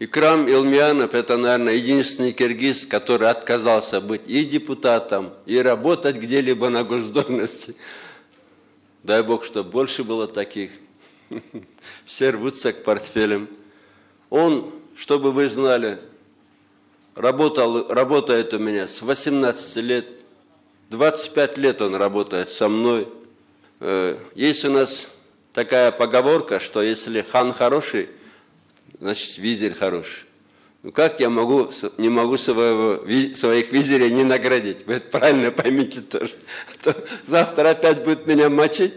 Икрам Илмиянов — это, наверное, единственный киргиз, который отказался быть и депутатом, и работать где-либо на госдолжности. Дай Бог, чтобы больше было таких. Все рвутся к портфелям. Он, чтобы вы знали, работает у меня с 18 лет. 25 лет он работает со мной. Есть у нас такая поговорка, что если хан хороший, значит визирь хороший. Ну как я не могу своих визирей не наградить? Вы это правильно поймите тоже. А то завтра опять будет меня мочить.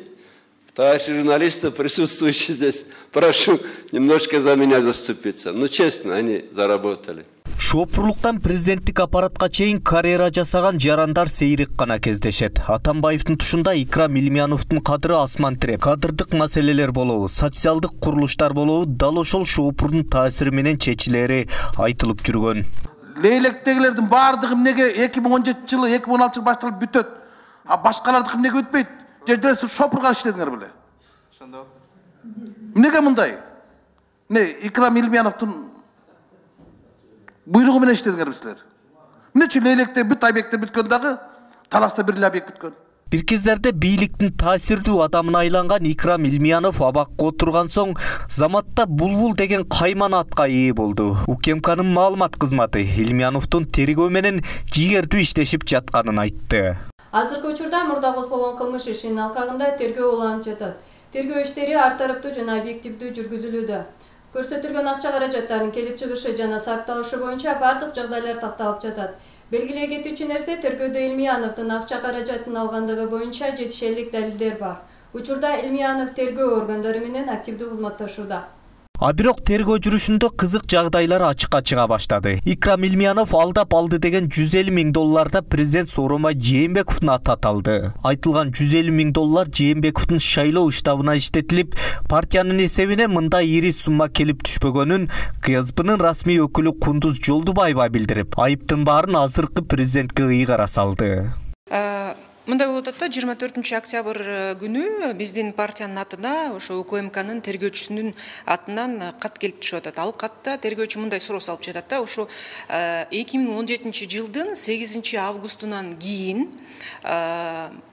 Товарищи журналисты, присутствующие здесь, прошу немножко за меня заступиться. Ну честно, они заработали. Шопурлуктан президенттик аппаратка чейин карьера жасаган жарандар сейрек гана кездешет. Атамбаевдин тушунда Икрам Илмияновдун кадыры асман тиреп. Кадырдык маселелер болобу, социалдык курулуштар болобу дал ошол шопурдун таасири менен чечилери айтылып жүргөн. Лейлектегилердин баардыгы эмнеге 2017-жылы, 2016-жылы башталып бүтөт, а башкалардыкы эмнеге өтпөйт? Жерде шопурга иштедиңер беле. Ошондо. Эмнеге мындай? Икрам Илмияновдун буйругу менен иштедиңер силер. Эмнечи Лейлекте бүт объектте бүткөн дагы Таласта бир эле объект бүткөн. Бир кездерде бийликтин таасирдүү адамына айланган Икрам Илмиянов абакка отурган соң заматта Булбул деген кайман атка ээ болду. УКМКнын маалымат кызматы Илмияновдун тергөө менен жигердүү иштешип жатканын айтты. Азыркы учурда мурда козголгон кылмыш ишинин алкагында тергөө уланып жатат. Тергөө иштери ар тараптуу жана объективдүү жүргүзүлүүдө. Көрсөтүлгөн акча каражаттарын келип чыгышы жана сарпталышы боюнча бардык жагдайлар такталып жатат. Белгилей кетүүчү нерсе, тергөөдө Илмияновдун акча каражатын алгандыгы боюнча жетишерлик далилдер бар. Учурда Илмиянов тергөө органдары менен активдүү кызматташууда. А бирок тергөө жүрүшүндө кызык жагдайлар ачыкка чыга баштады. Икрам Илмиянов алдап алды деген $150,000 президент Сооронбай Жээнбековдун аты аталды. Айтылган $150,000 Жээнбековдун шайлоо штабына иштетилип, партиянын эсебине мындай ири сумма келип түшпөгөнүн КСБнын расмий өкүлү Кундуз Жолдубаева билдирип, айыптын баарын азыркы президентке ыйгара салды. Мындай болуп атат да, 24 октябрь күнү биздин партиянын атына ошо УКМКнын тергөөчүсүнүн атынан кат келип түшүп атат. Ал катта тергөөчү мындай суроо салып жатат да, ошо 2017 жылдын 8 августунан кийин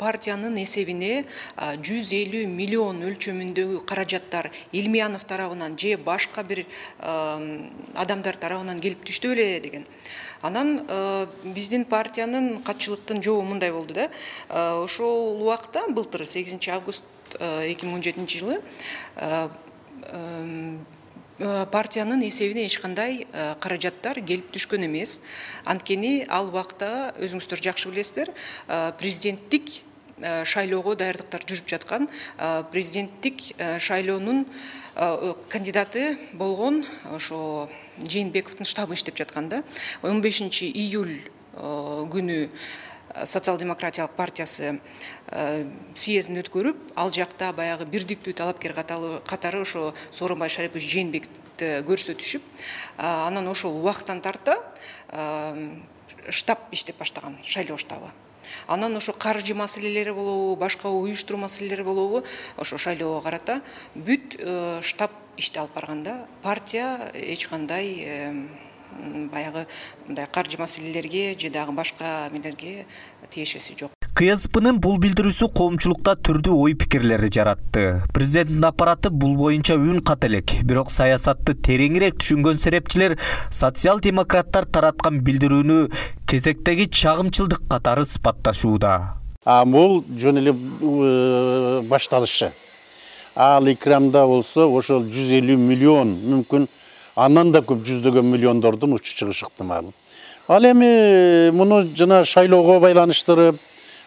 партиянын эсебине 150 миллион өлчөмүндөгү каражаттар Илмиянов тарабынан же башка бир адамдар тарабынан келип түштү беле деген. Анан биздин партиянын катчылыктын жообу мындай болду да. Ошол убакта былтыр 8 август 2017 жылы партиянын эсебине эч кандай каражаттар келип түшкөн эмес. Анткени ал убакта өзүңүздөр жакшы билесиздер, президенттик шайлоого даярдыктар жүрүп жаткан, президенттик шайлоонун кандидаты болгон ошо Жээнбековдун штабы иштеп жаткан да. 15 июль күнү Социал-демократиялык партиясы съездин өткөрүп, ал жакта баягы бирдиктүү талапкер катары ошо Сооронбай Шарипович Жээнбековду көрсөтүшүп, анан ошол убактан тарта штаб иштеп баштаган, шайлоо штабы. Анан ошо каржы маселелери болобу, башка уюштуруу маселелери болобу, ошо шайлоого карата бүт штаб ишти алып барганда, партия эч кандай баягы мындай каржы маселелерге же дагы башка эмелерге тиешеси жок. КСБнын бул билдирүүсү коомчулукта түрдүү ой пикирлерди жаратты. Президенттин аппараты бул боюнча үн кат элек, бирок саясатты тереңирээк түшүнгөн серепчилер социал-демократтар тараткан билдирүүнү кезектеги чагымчылдык катары сыпатташууда. Бул жөн эле башталышы. Ал Икрамда болсо ошол 150 миллион, мүмкүн андан да көп жүздөгөн миллиондордун учу чыгышы ыктымал. Ал эми муну жана шайлоого байланыштырып,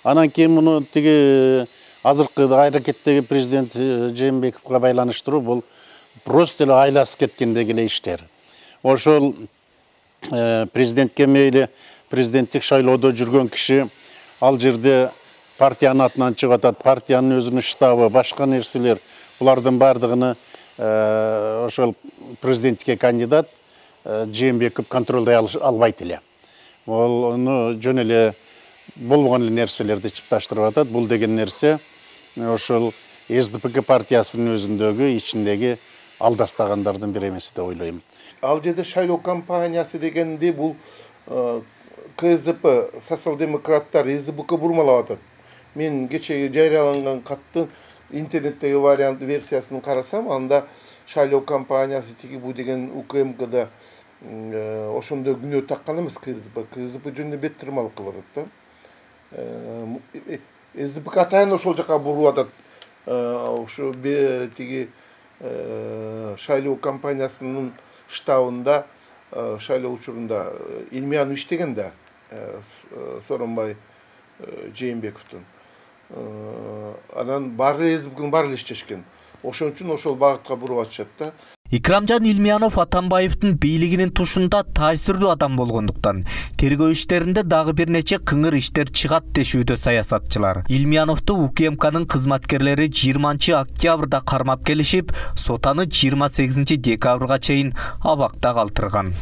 анан кийин муну тиги азыркы аракеттеги президент Жээнбековго байланыштыруу бул просто эле айласып кеткендеги эле иштер. Ошол президентке мейли президенттик шайлоодо жүргөн киши ал жерде партиянын атынан чыгып атат, партиянын өзүнүн штабы, башка нерселер, булардын бардыгыны ошол президенттикке кандидат Жээнбеков контролдой албайт эле. Ону жөн эле болгон эле нерселерди чыпташтырып атат. Бул деген нерсе ошол СДПК партиясынын өзүндөгү ичиндеги алдастагандардын бири эмес деп ойлойм. Ал жерде шайлоо кампаниясы дегенде бул КСДП, социал-демократтар, СДПК бурмалап атат. Мен кечеги жарыяланган каттын интернеттеги вариант версиясын карасам, анда шайлоо кампаниясы тиги бу деген УКМКда ошондо күнөө таккан эмес КСДП. КСДП жөнүндө беттирмалык кылып атат да. СДПК атайын ошол жака буруп атат. Ошо тиги шайлоо кампаниясынын штабында шайлоо учурунда Илмиянов иштеген да, Сооронбай Жээнбековдун. Анан баары СДПКнын баары иштешкен. Ошон үчүн ошол багытка буруп атышат да. Икрамжан Илмиянов Атамбаевдин бийлигинин тушунда таасирдүү адам болгондуктан тергөө иштеринде дагы бир нече кыңыр иштер чыгат дешүүдө саясатчылар. Илмияновду УКМКнын кызматкерлери 20-октябрда кармап келишип, сотаны 28 декабрга чейин абакта калтырган.